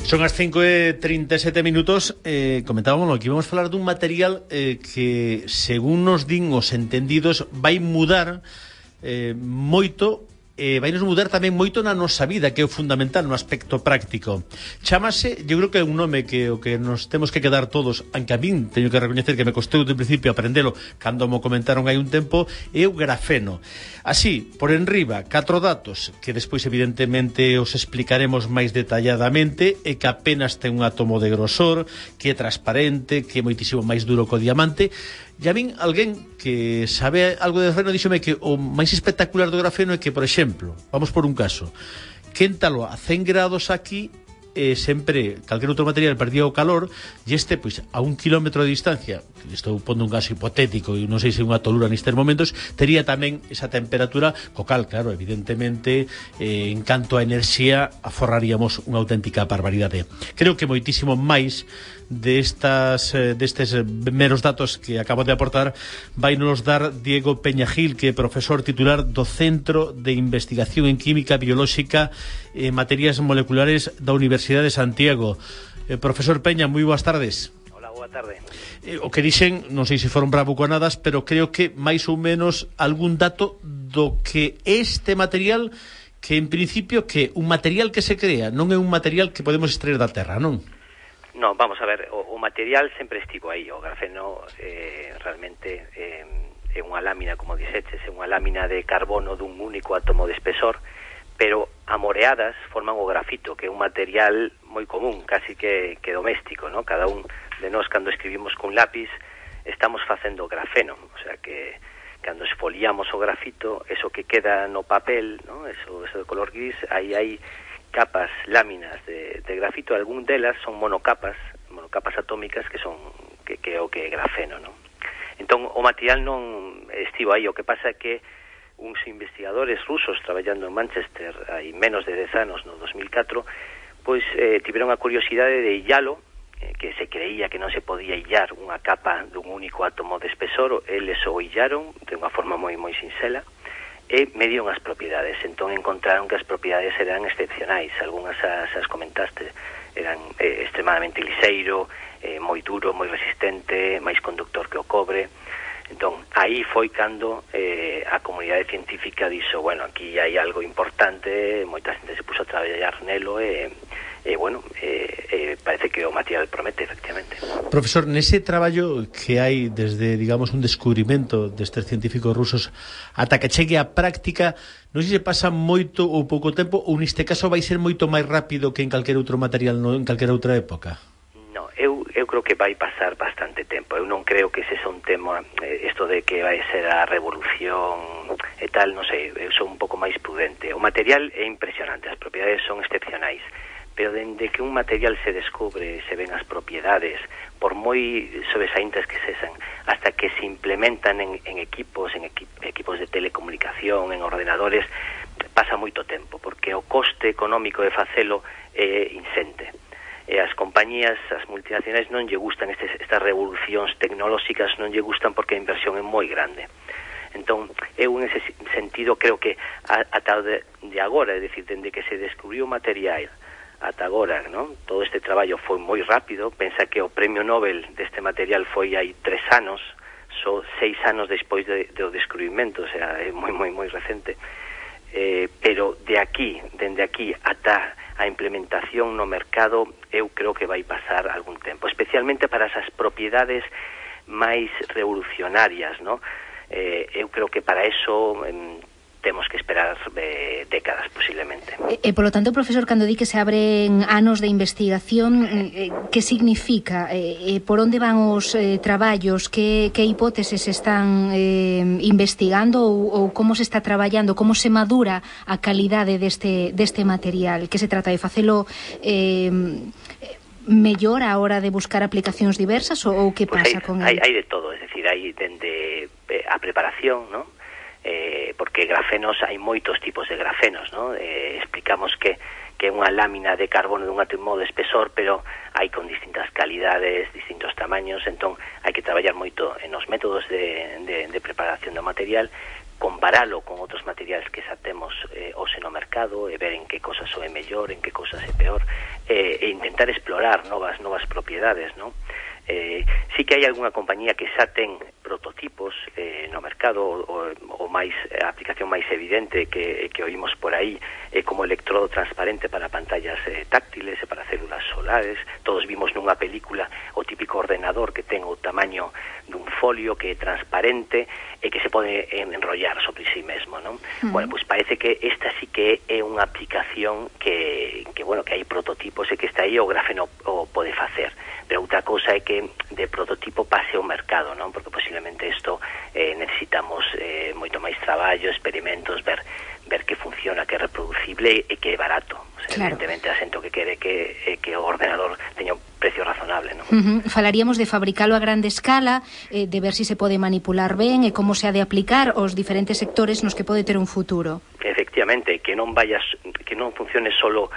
Son as 5:37 comentábamos que íbamos a falar dun material que, según nos din os entendidos, vai mudar moito, vai nos mudar tamén moito na nosa vida, que é o fundamental no aspecto práctico. Chámase, eu creo que é un nome que o que nos temos que quedar todos, aunque a min teño que recoñecer que me costou de principio aprendelo cando mo comentaron hai un tempo, é o grafeno. Así, por enriba, 4 datos que despois evidentemente os explicaremos máis detalladamente, e que apenas ten un átomo de grosor, que é transparente, que é moitísimo máis duro que o diamante. E a min, alguén que sabe algo de grafeno díxome que o máis espectacular do grafeno é que, por exemplo, vamos por un caso, quéntalo a 100 grados aquí, sempre calquer outro material perdía o calor, e este, pois, a 1 kilómetro de distancia, estou pondo un caso hipotético e non sei se unha tolura nestes momentos, tería tamén esa temperatura, co cal, claro, evidentemente, en canto a enerxía, aforraríamos unha auténtica barbaridade. Creo que moitísimo máis destes meros datos que acabo de aportar vai nos dar Diego Peña Gil, que é profesor titular do Centro de Investigación en Química Biolóxica e Materias Moleculares da Universidade de Santiago. Profesor Peña, moi boas tardes. Hola, boa tarde. O que dixen, non sei se foron bravuconadas, pero creo que máis ou menos algún dato do que este material, que en principio que un material que se crea, non é un material que podemos extraer da terra, non? No, vamos a ver, o material sempre estivo aí. O grafeno realmente é unha lámina, como dixeches, é unha lámina de carbono dun único átomo de espesor, pero amoreadas forman o grafito, que é un material moi común, casi que doméstico, ¿no? Cada un de nós, cando escribimos con lápiz, estamos facendo grafeno, o sea que cando esfoliamos o grafito, eso que queda no papel, ¿no? Eso de color gris, aí hai capas, láminas de grafito. Algún delas son monocapas atómicas que é o que é grafeno, ¿no? Entón, o material non estivo aí. O que pasa é que uns investigadores rusos traballando en Manchester hai menos de 10 anos, no 2004, pois tiveron a curiosidade de illalo, que se creía que non se podía illar unha capa dun único átomo de espesor. Eles o illaron de unha forma moi sinxela e mediron as propiedades. Entón encontraron que as propiedades eran excepcionais. Algúnas as comentaste, eran extremadamente liseiro, moi duro, moi resistente, máis conductor que o cobre. Entón, aí foi cando a comunidade científica dixo, bueno, aquí hai algo importante, moita xente se puso a traballar nelo parece que o material promete, efectivamente. Profesor, nese traballo que hai desde, digamos, un descubrimento destes científicos rusos ata que chegue a práctica, non sei se pasa moito ou pouco tempo, ou neste caso vai ser moito máis rápido que en calquer outro material, en calquer outra época? No, eu creo que vai pasar bastante tempo. Eu non creo que ese é un tema, isto de que vai ser a revolución e tal, non sei, eu sou un pouco máis prudente. O material é impresionante, as propiedades son excepcionais, pero dende que un material se descubre, se ven as propiedades, por moi sobresaíntes que sexan, hasta que se implementan en equipos de telecomunicación, en ordenadores, pasa moito tempo, porque o coste económico de facelo é insente. E as compañías, as multinacionais, non lle gustan estas revolucións tecnolóxicas, non lle gustan porque a inversión é moi grande. Entón, eu en ese sentido creo que ata de agora, é dicir, dende que se descubriu o material ata agora, ¿no? Todo este traballo foi moi rápido. Pensa que o premio Nobel deste material foi hai 3 anos, só 6 anos despois do descubrimento, o sea, é moi recente. Pero dende aquí ata a implementación no mercado, eu creo que vai pasar algún tempo, especialmente para esas propiedades máis revolucionarias, ¿no? Eu creo que para eso temos que esperar décadas, posiblemente. E, polo tanto, profesor, cando di que se abren anos de investigación, que significa? Por onde van os traballos? Que hipóteses están investigando ou como se está traballando? Como se madura a calidade deste material? Que se trata de facelo mellor a hora de buscar aplicacións diversas ou que pasa con ele? Hai de todo, es decir, hai dende a preparación, ¿no? Porque grafenos, hai moitos tipos de grafenos, ¿no? Explicamos que é unha lámina de carbono dun átomo de espesor, pero hai con distintas calidades, distintos tamaños. Entón hai que traballar moito en os métodos de preparación do material, comparalo con outros materiais que xa temos hoxe no mercado e ver en que cosas é mellor, en que cosas é peor. e intentar explorar novas propiedades, non? Sí que hai algunha compañía que xa ten prototipos no mercado, o máis a aplicación máis evidente que oímos por aí é como electrodo transparente para pantallas táctiles e para células solares. Todos vimos nunha película o típico ordenador que ten o tamaño dun folio, que é transparente e que se pode enrollar sobre sí mesmo, non? Bueno, pois parece que esta sí que é unha aplicación que hai prototipos e que está aí, o grafeno o pode facer. Pero outra cousa é que de prototipo pase ao mercado, non? Porque posiblemente isto necesitamos moito máis traballo, experimentos, ver que funciona, que é reproducible e que é barato. O sea, claro. Evidentemente, a xente que quere que o ordenador teña un precio razonable, non? Falaríamos de fabricalo a grande escala, de ver si se pode manipular ben e como se ha de aplicar aos diferentes sectores nos que pode ter un futuro. Efectivamente, que non funcione solo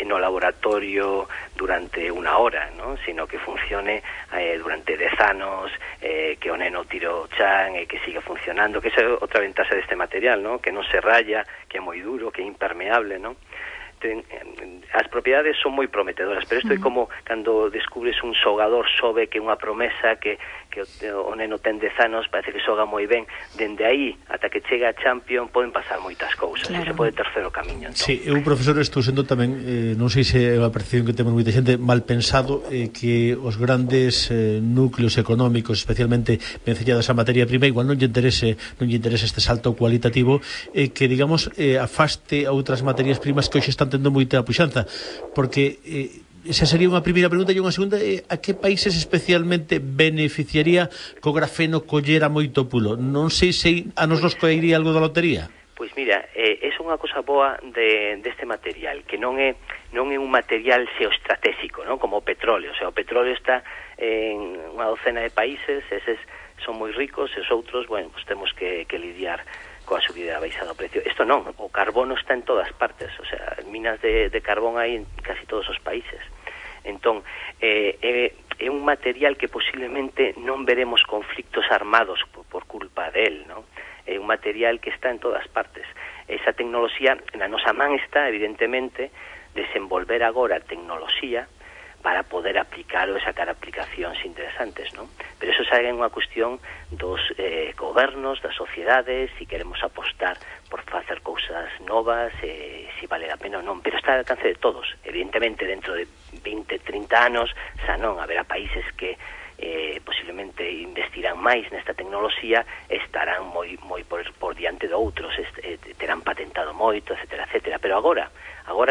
no laboratorio durante unha hora, ¿no? Sino que funcione durante 10 anos, que o neno tire o chan e que siga funcionando, que esa é outra ventaxa deste material, ¿no? Que non se raya, que é moi duro, que é impermeable, ¿no? As propiedades son moi prometedoras, pero isto é como cando descubres un xogador, sobe que unha promesa que o neno ten 10 anos, parece que xoga moi ben, dende aí ata que chega a Champion poden pasar moitas cousas, claro. Se pode ter o camiño, entón. Sí, eu, profesor, estou sendo tamén, non sei se é unha percepción que temos moita xente, mal pensado, que os grandes núcleos económicos, especialmente vencellados a materia prima, igual non lle interese este salto cualitativo, que, digamos, afaste a outras materias primas que hoxe están tendo moita puxanza, porque esa sería unha primeira pregunta. E unha segunda, a que países especialmente beneficiaría co grafeno collera moito pulo? Non sei se a nos coiría algo da lotería. Pois mira, é unha cosa boa deste material, que non é un material xeoestratégico, non? Como o petróleo. O sea, o petróleo está en unha docena de países, eses son moi ricos, e os outros, bueno, pues temos que lidiar coa subida e baixada do precio. Isto non, o carbono está en todas partes, o sea, minas de carbón hai en casi todos os países. Entón, é un material que posiblemente non veremos conflictos armados por culpa del, non? É un material que está en todas partes. Esa tecnoloxía, na nosa man está, evidentemente, desenvolver agora tecnoloxía para poder aplicalo e sacar aplicacións interesantes, non? Pero eso xa é unha cuestión dos gobernos, das sociedades, se queremos apostar por facer cousas novas, se vale a pena ou non, pero está ao alcance de todos. Evidentemente, dentro de 20, 30 anos, xa non, haberá países que posiblemente investirán máis nesta tecnoloxía, estarán moi por diante de outros, terán patentado moito, etcétera, etcétera. Pero agora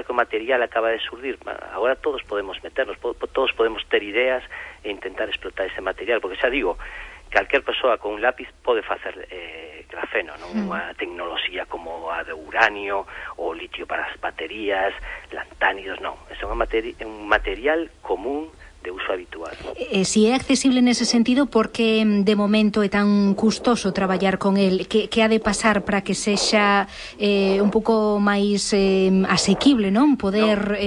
que o material acaba de surdir, agora todos podemos meternos, todos podemos ter ideas e intentar explotar ese material, porque xa digo, calquer persoa con un lápiz pode facer grafeno, non? Unha tecnoloxía como a de uranio ou litio para as baterías, lantánidos, non. É un material común de uso habitual. Si é accesible nese sentido, porque de momento é tan custoso traballar con el, que ha de pasar para que sexa un pouco máis asequible, non? Poder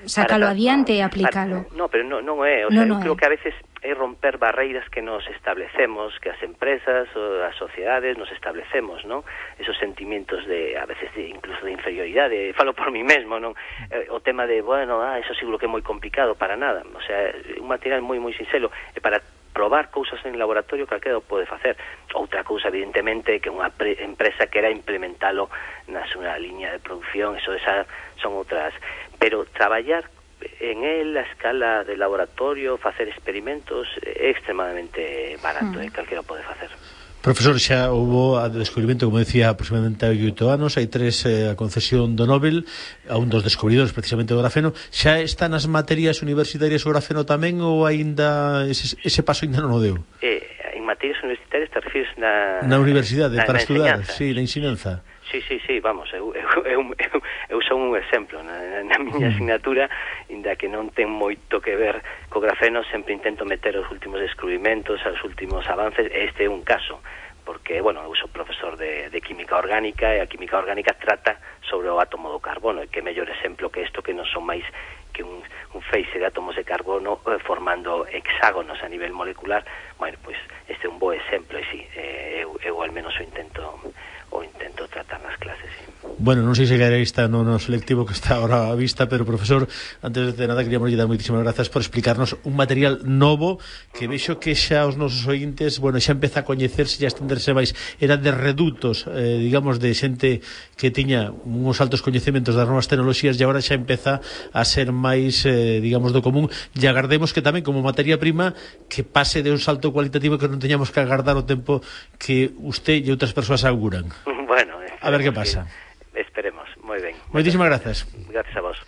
sacalo adiante e aplicalo. Pero non é, o sea, eu creo que a veces é romper barreiras que nos establecemos, que as empresas ou as sociedades nos establecemos, non? Esos sentimientos de, a veces, incluso de inferioridade, falo por mí mesmo, non? O tema de, bueno, eso seguro que é moi complicado, para nada. O sea, un material moi sinxelo, e para probar cousas en laboratorio calquera o pode facer. Outra cousa, evidentemente, que unha empresa quera implementalo na súa liña de producción, eso esa son outras. Pero traballar en él, a escala de laboratorio, facer experimentos, é extremadamente barato, calquera pode facer. Profesor, xa houve a descubrimento, como decía, aproximadamente 8 anos, hai 3 a concesión do Nobel a un dos descubridores precisamente do grafeno. Xa están as materias universitarias o grafeno tamén, ou aínda ese paso aínda non o deu? En materias universitarias te refires na universidade, para estudar, sí, na ensinanza. Sí, vamos, eu son un exemplo na miña asignatura, inda que non ten moito que ver co grafeno, sempre intento meter os últimos descubrimentos, os últimos avances, este é un caso, porque, bueno, eu sou profesor de química orgánica, e a química orgánica trata sobre o átomo do carbono, e que mellor exemplo que isto, que non son máis que un feixe de átomos de carbono formando hexágonos a nivel molecular. Bueno, pois este é un bo exemplo, e sí, eu al menos o intento tratar nas clases, sí. Bueno, non sei se está no selectivo que está ahora a vista, pero profesor, antes de nada queríamos dar moitísimas grazas por explicarnos un material novo que vexo que xa os nosos ointes, bueno, xa empeza a coñecerse e a estenderse máis. Era de redutos, digamos, de xente que tiña uns altos coñecementos das novas tecnoloxías e agora xa empeza a ser máis, digamos, do común, e agardemos que tamén como materia prima que pase de un salto cualitativo que non teñamos que agardar o tempo que usted e outras persoas auguran. Bueno, a ver que pasa. Esperemos, moi ben. Moitísimas grazas. Gracias a vos.